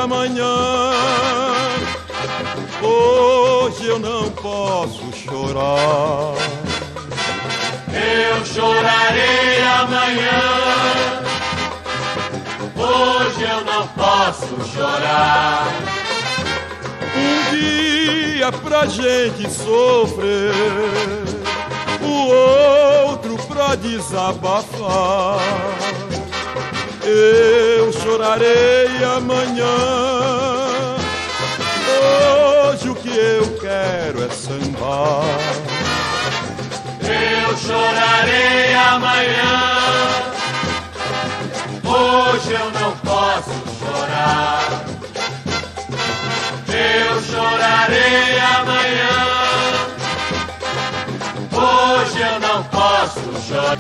amanhã. Hoje eu não posso chorar. Eu chorarei amanhã. Hoje eu não posso chorar. Um dia pra gente sofrer, o outro pra desabafar. Eu chorarei amanhã. Hoje o que eu quero é sambar. Eu chorarei amanhã. Hoje eu não posso chorar. Eu chorarei amanhã. Hoje eu não posso chorar.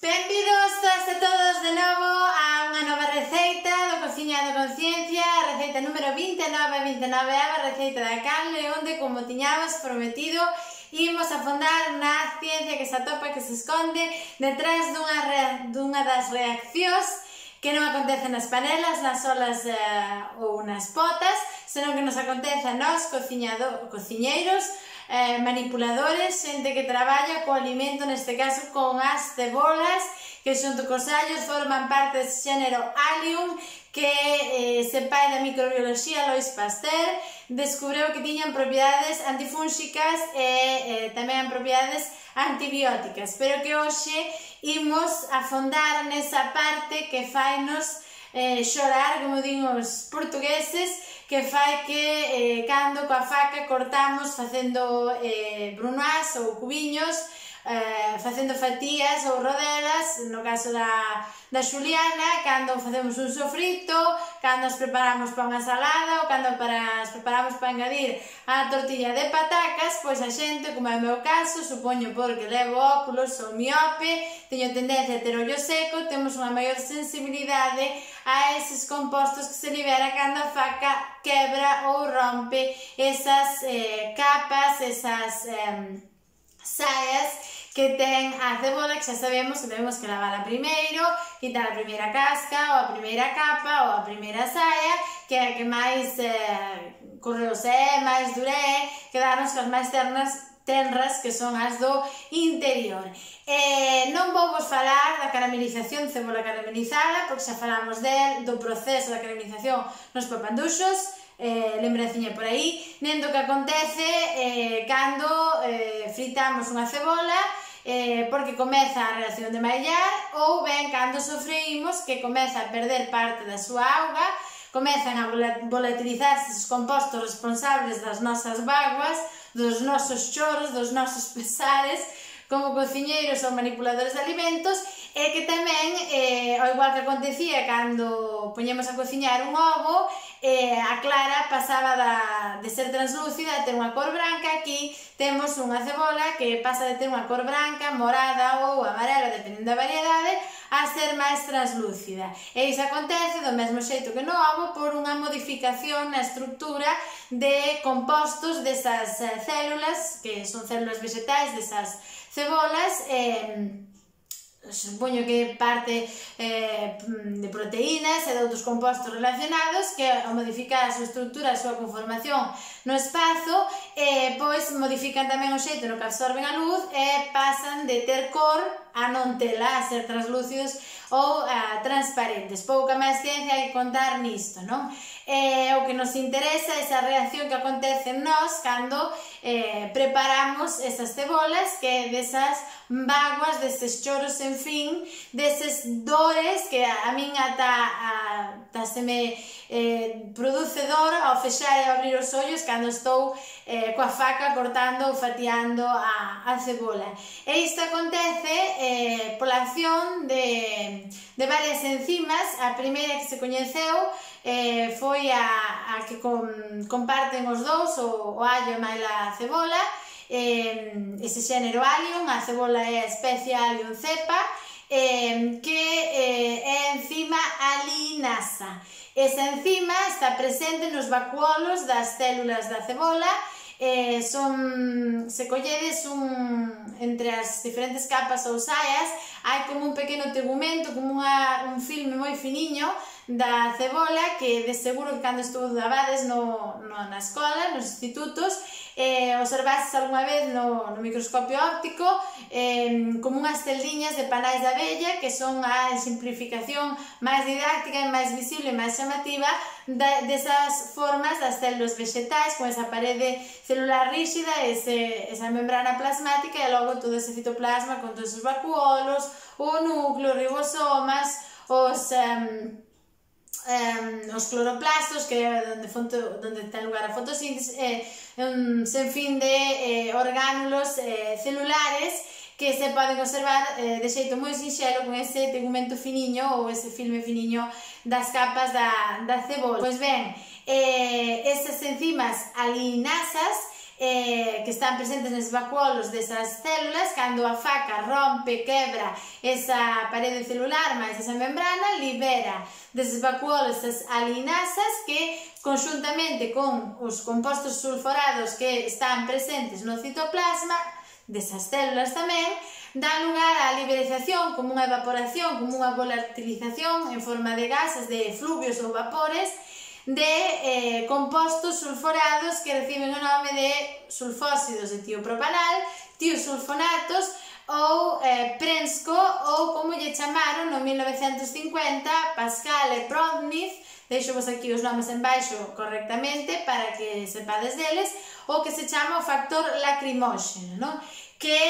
Benvidos todas e todos de novo a unha nova receita do Cociña de Conciencia, a receita número 29 a receita da canle, onde, como tiñamos prometido, imos afondar na ciencia que se atopa, que se esconde detrás dunha das reaccións que non acontece nas panelas, nas olas ou nas potas, senón que nos acontece a nós, cociñeiros, manipuladores, xente que traballa co alimento, neste caso con as cebolas, que xunto cos allos forman parte desse xénero Allium, que se pai da microbioloxía Louis Pasteur descubreu que tiñan propiedades antifúnxicas e tamén propiedades antibióticas, pero que hoxe imos afondar nesa parte que fainos xorar, como din os portugueses, que fai que cando coa faca cortamos facendo brunoise ou cubiños, facendo fatías ou rodelas, no caso da Xuliana, cando facemos un sofrito, cando as preparamos para unha salada ou cando as preparamos para engadir a tortilla de patacas, pois a xente, como é o meu caso, supoño porque levo óculos, sou miope, teño tendencia a ter ollo seco, temos unha maior sensibilidade a eses compostos que se libera cando a faca quebra ou rompe esas capas, esas saias que ten a cebola, que xa sabemos que temos que lavarla primeiro, quitar a primeira casca ou a primeira capa ou a primeira saia, que é a que máis correosa é, máis dura é, quedarnos as máis tenras, que son as do interior. Non vou vos falar da caramelización de cebola caramelizada, porque xa falamos do proceso da caramelización nos papanduxos, lembraciña por aí, nen do que acontece cando fritamos unha cebola, porque comeza a reacción de maillar, ou ben cando sofreímos, que comeza a perder parte da súa auga, comezan a volatilizarse os compostos responsables das nosas vaguas, dos nosos choros, dos nosos pesares, como cociñeiros ou manipuladores de alimentos, e que tamén, ao igual que acontecía cando poñemos a cociñar un ovo, a clara pasaba de ser translúcida a ter unha cor branca. Aquí temos unha cebola que pasa de ter unha cor branca, morada ou amarela, dependendo da variedade, a ser máis translúcida. E iso acontece do mesmo xeito que no ovo por unha modificación na estructura de compostos desas células, que son células vegetais, desas cebolas, supoño que parte de proteínas e de outros compostos relacionados que ao modificar a súa estructura, a súa conformación no espazo, pois modifican tamén o xeito no que absorben a luz e pasan de ter cor a non tela, a ser translúcidos ou transparentes. Pouca máis ciencia hai que contar nisto, non? O que nos interesa é esa reacción que acontece en nós cando preparamos esas cebolas, que desas vaguas, deses choros en fin, deses dores que a min ata se me produce dor ao fexar e abrir os ollos cando estou coa faca cortando ou fatiando a cebola. E isto acontece pola acción de varias enzimas. A primeira que se coñeceu foi a que comparten os dous, o allo e a cebola, ese xénero Allium. A cebola é a especie Allium cepa, que é a enzima alinasa. Esa enzima está presente nos vacuolos das células da cebola, se colledes entre as diferentes capas ou saias, hai como un pequeno tegumento, como un filme moi finiño da cebola, que de seguro que cando estudabades na escola, nos institutos, observastes algunha vez no microscopio óptico como unhas celdiñas de panais de abella, que son a simplificación máis didáctica e máis visible e máis chamativa desas formas das células vegetais, con esa parede celular rígida, esa membrana plasmática e logo todo ese citoplasma con todos os vacuolos, o núcleo, ribosomas, os cloroplastos, que é onde ten lugar a fotosíntese, un sinfín de orgánulos celulares que se poden observar de xeito moi sinxelo con ese tegumento finiño ou ese filme finiño das capas da cebola. Pois ben, esas enzimas alinasas que están presentes nos vacuolos desas células, cando a faca rompe, quebra esa parede celular máis esa membrana, libera deses vacuolos esas alinasas que, conxuntamente con os compostos sulforados que están presentes no citoplasma desas células tamén, dan lugar á liberación, como unha evaporación, como unha volatilización en forma de gases, de fluvios ou vapores, de compostos sulforados que reciben o nome de sulfóxidos de tiopropanal, tiosulfonatos ou Prensko, ou como lle chamaron no 1950 Pascal e Proudnitz, deixo vos aquí os nomes en baixo correctamente para que sepades deles, o que se chama o factor lacrimóxeno, non? Que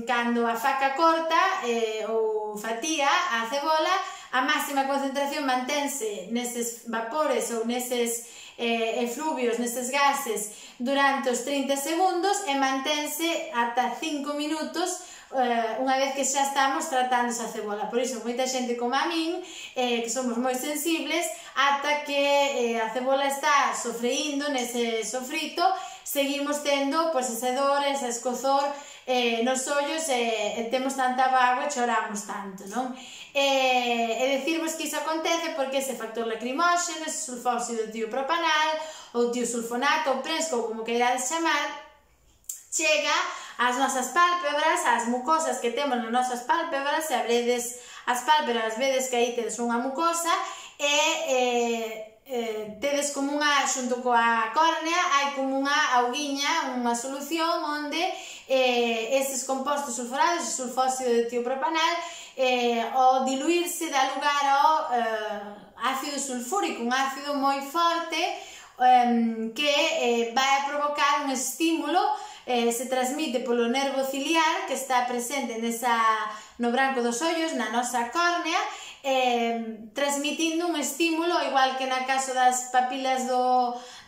cando a faca corta ou fatía a cebola, a máxima concentración mantense neses vapores ou neses efluvios, neses gases durante os 30 segundos e mantense ata 5 minutos unha vez que xa estamos tratando esa cebola. Por iso, moita xente como a min, que somos moi sensibles, ata que a cebola está sofreindo nese sofrito, seguimos tendo ese dor, ese escozor nos ollos, e temos tanta vaga e choramos tanto, non? E dicirvos que iso acontece porque ese factor lacrimóxeno, ese sulfóxido de tiopropanal, ou tiosulfonato, ou Prensko, ou como queirades chamar, chega ás nosas pálpebras, ás mucosas que temos nas nosas pálpebras. Se abredes as pálpebras, vedes que aí tedes unha mucosa e tedes como unha, xunto coa córnea, hai como unha auguiña, unha solución onde estes compostos sulforados, o sulfóxido de tiopropanal, ao diluirse dá lugar ao ácido sulfúrico, un ácido moi forte que vai a provocar un estímulo, se transmite polo nervo ciliar que está presente no branco dos ollos, na nosa córnea, transmitindo un estímulo, igual que na caso das papilas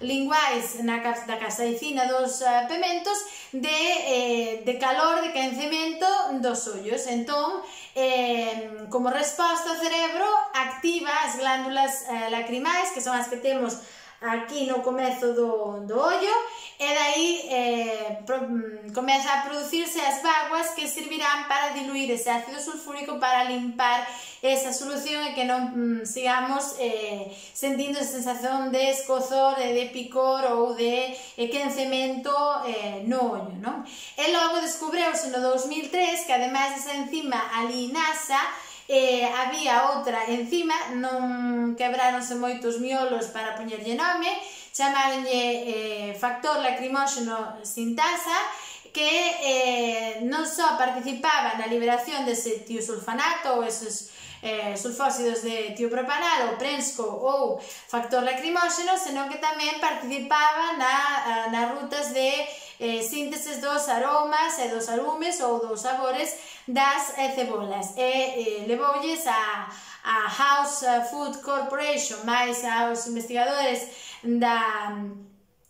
linguais, da capsaicina dos pementos, de calor, de quencemento dos ollos. Entón, como resposta, o cerebro activa as glándulas lacrimais, que son as que temos aquí no comezo do ollo, e dai comeza a producirse as vaguas que servirán para diluir ese ácido sulfúrico, para limpar esa solución e que non sigamos sentindo esa sensación de escozor, de picor ou de quencemento no ollo, non? E logo descubreuse no 2003 que ademais desa enzima alinasa, había outra enzima, non quebráronse moitos miolos para poñerlle nome, chamaronlle factor lacrimóxeno sintasa, que non só participaba na liberación dese tiosulfonato ou esos sulfóxidos de tiopropanal ou Prensko ou factor lacrimóxeno, senón que tamén participaba nas rutas de sínteses dos aromas e dos arumes ou dos sabores das cebolas, e levoulles a House Food Corporation, máis aos investigadores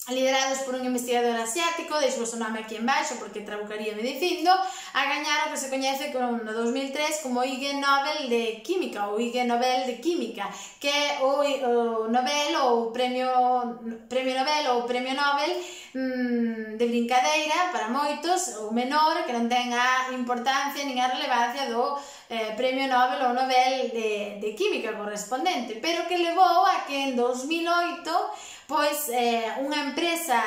liderados por un investigador asiático, deixo o nome aquí en baixo porque trabucaríame dicindo, a gañar o que se coñece no 2003 como Ig Nobel de Química ou Ig Nobel de Química, que é o Nobel ou Premio Nobel ou Premio Nobel de brincadeira para moitos, ou menor, que non ten a importancia nin a relevancia do Premio Nobel ou Nobel de Química correspondente, pero que levou a que en 2008 pois unha empresa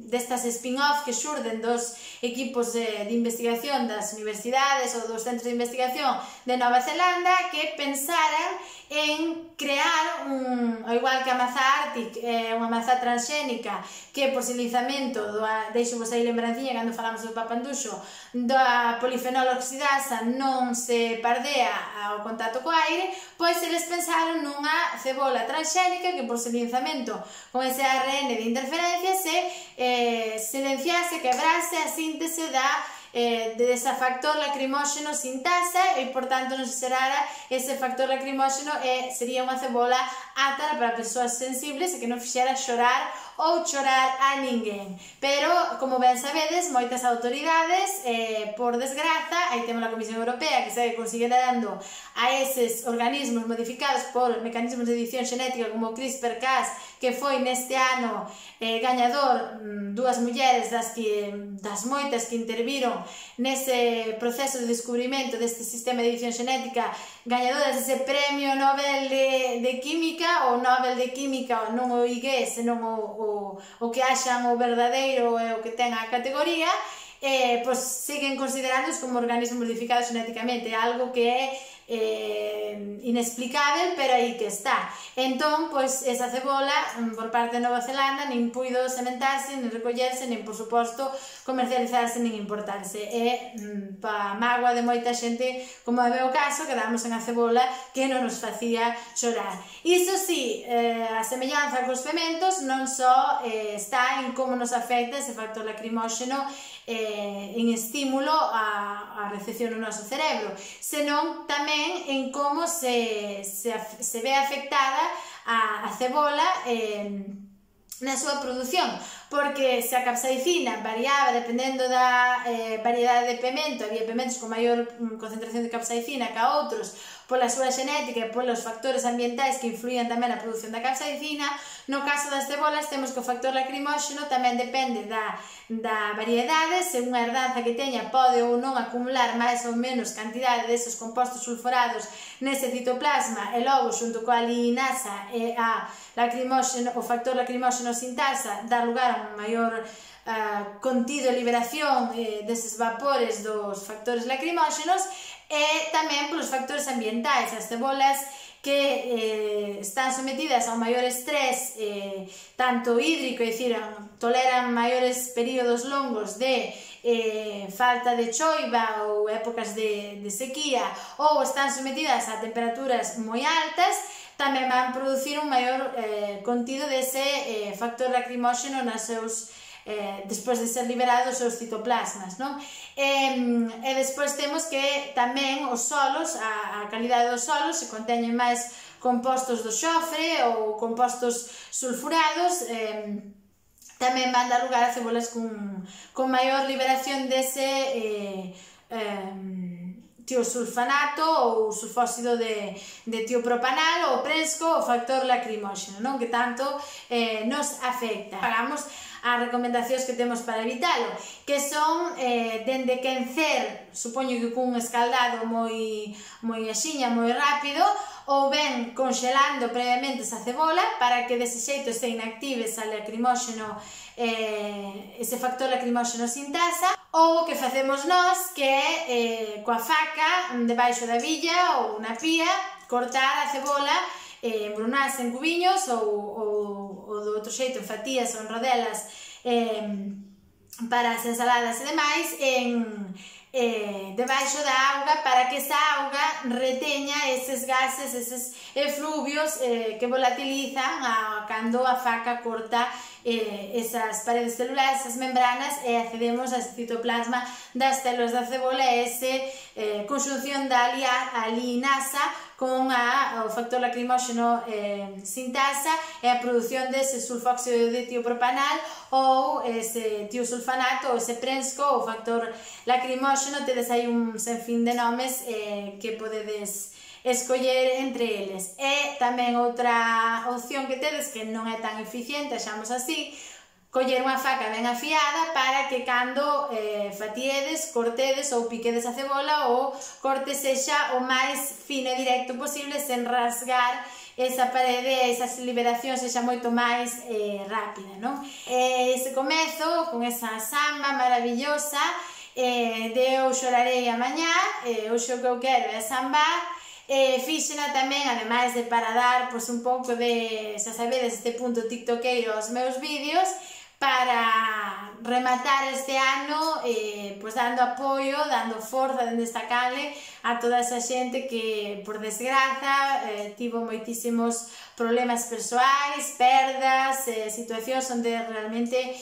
destas spin-off que xurden dos equipos de investigación das universidades ou dos centros de investigación de Nova Zelanda que pensaran en crear ao igual que a maza Arctic, unha maza transxénica que por silizamento deixo vos aí lembranciña cando falamos do papanduxo da polifenol oxidasa non se pardea ao contacto co aire, pois eles pensaron nunha cebola transxénica que por silizamento con ese ARN de interferencia se silenciase, quebrase a síntese dese factor lacrimóxeno sintasa e, por tanto, non se xerara ese factor lacrimóxeno e sería unha cebola apta para persoas sensibles e que non fixera xorar ou chorar a ninguén. Pero, como ben sabedes, moitas autoridades, por desgraza, aí temos a Comisión Europea que segue considerando a eses organismos modificados por mecanismos de edición xenética como CRISPR-Cas, que foi neste ano gañador dúas mulleres das moitas que interviron nese proceso de descubrimento deste sistema de edición xenética, gañadoras dese premio Nobel de Química, ou Nobel de Química, non o IG, senón o que haxan o verdadeiro e o que ten a categoría, pois siguen considerándoos como organismos modificados xenéticamente, algo que é inexplicável, pero aí que está. Entón, pois, esa cebola por parte de Nova Zelanda nin puido sementarse, nin recollerse, nin, por suposto, comercializarse, nin importarse. E, pa mágoa de moita xente, como é o caso, quedamos en a cebola que non nos facía chorar. Iso sí, a semellanza cos pementos non só está en como nos afecta ese factor lacrimóxeno en estímulo á recepción no noso cerebro, senón tamén en como se ve afectada a cebola na súa produción, porque se a capsaicina variaba dependendo da variedade de pemento, había pementos con maior concentración de capsaicina que a outros pola súa xenética e polos factores ambientais que influían tamén na produción da capsaicina. No caso das cebolas temos que o factor lacrimóxeno tamén depende da variedade, según a herdanza que teña pode ou non acumular máis ou menos cantidade deses compostos sulfurados nese citoplasma e logo xunto coa liinasa e o factor lacrimóxeno sintasa dar lugar a un maior contido e liberación deses vapores dos factores lacrimóxenos e tamén polos factores ambientais. As cebolas que están sometidas a un maior estrés tanto hídrico, é dicir, toleran maiores períodos longos de falta de choiva ou épocas de sequía, ou están sometidas a temperaturas moi altas, tamén van producir un maior contido dese factor lacrimóxeno nos seus despois de ser liberados os citoplasmas, non? E despois temos que tamén os solos, a calidade dos solos, se conteñen máis compostos do xofre ou compostos sulfurados, tamén van dar lugar a cebolas con maior liberación dese tiosulfanato ou sulfóxido de tiopropanal ou presco, o factor lacrimóxeno, non? Que tanto nos afecta. Pagamos as recomendacións que temos para evitalo, que son dende quencer, supoño que cun escaldado moi axiña, moi rápido, ou ben conxelando previamente esa cebola para que dese xeito se inactive ese lacrimóxeno, ese factor lacrimóxeno sintasa, ou o que facemos nós, que é coa faca debaixo da billa ou na pía, cortar a cebola, embrunarse en cubiños ou do outro xeito en fatías ou en rodelas para as ensaladas e demais debaixo da auga para que esa auga reteña eses gases, eses efluvios que volatilizan cando a faca corta esas paredes celulares, esas membranas e accedemos ao citoplasma das células da cebola e esa conxunción da liinasa con o factor lacrimóxeno sintasa e a produción dese sulfóxido de tiopropanal ou ese tiosulfanato ou ese prensco ou factor lacrimóxeno. Tedes aí un senfín de nomes que podedes escoller entre eles. E tamén outra opción que tedes que non é tan eficiente, xamos así, coller unha faca ben afiada para que cando fatiedes, cortedes ou piquedes a cebola o corte sexa o máis fino e directo posible sen rasgar esa parede, esa liberación sexa moito máis rápida, non? Ese comezo con esa samba maravillosa de Eu chorarei amañá, hoxe o que eu quero é sambar. Fíxena tamén, ademais de para dar un pouco de, xa sabedes, este punto tiktokeiro aos meus vídeos, para rematar este ano dando apoio, dando forza dende esta canle a toda esa xente que, por desgraza, tivo moitísimos problemas persoais, perdas, situacións onde realmente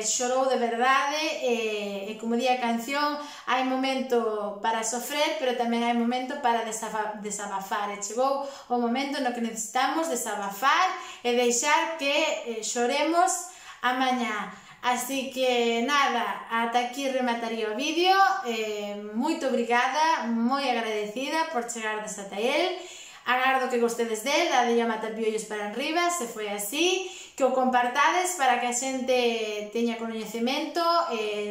chorou de verdade, e como di a canción, hai momento para sofrer, pero tamén hai momento para desabafar, e chegou o momento no que necesitamos desabafar e deixar que choremos amañá. Así que nada, ata aquí remataría o vídeo. Moito obrigada, moi agradecida por chegardes ata el. Agardo que gostedes del, dadelle a matapiollos para arriba, se foi así, que o compartades para que a xente teña coñecemento,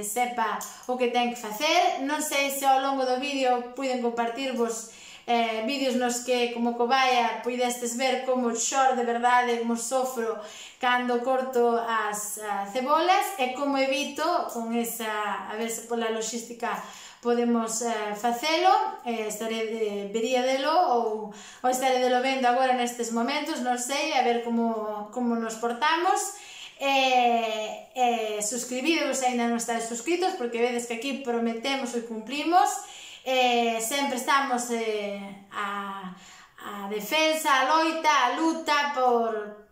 sepa o que ten que facer. Non sei se ao longo do vídeo puiden compartirvos vídeos nos que, como cobaia, puidestes ver como choro de verdade, como sofro cando corto as cebolas e como evito con esa, a ver se pola logística podemos facelo. Vería delo ou estaré delo vendo agora nestes momentos, non sei, a ver como nos portamos. Suscribidevos se ainda non estáis suscritos, porque vedes que aquí prometemos e cumplimos. Sempre estamos a defensa, a loita, a luta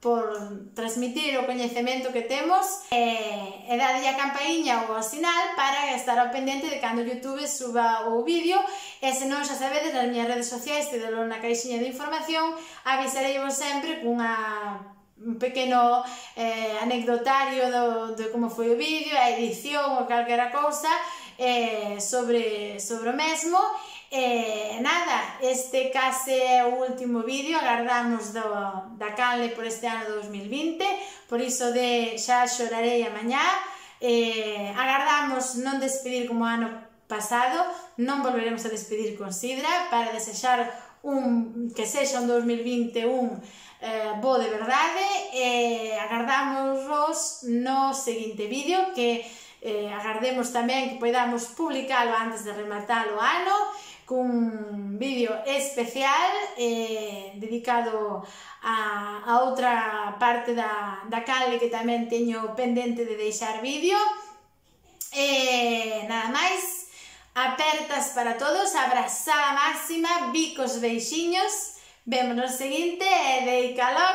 por transmitir o coñecemento que temos, e dadelle a campaíña ou ao sinal para estar ao pendente de cando YouTube suba o vídeo. E se non, xa sabedes, nas miñas redes sociais, tidelo na caixinha de información, avisareivos sempre un pequeno anecdotario de como foi o vídeo, a edición ou calquera cousa sobre o mesmo. Nada, este case é o último vídeo, agardamos da canle por este ano 2020, por iso de xa chorarei amañá. Agardamos non despedir como ano pasado, non volveremos a despedir con sidra, para desexar que sexa un 2021 bo de verdade. Agardamos no seguinte vídeo, que agardemos tamén que podamos publicalo antes de rematar o ano, cun vídeo especial dedicado a outra parte da canle que tamén teño pendente de deixar vídeo. Nada máis, apertas para todos, abrazada máxima, bicos, beixiños, vemos no seguinte e deica logo.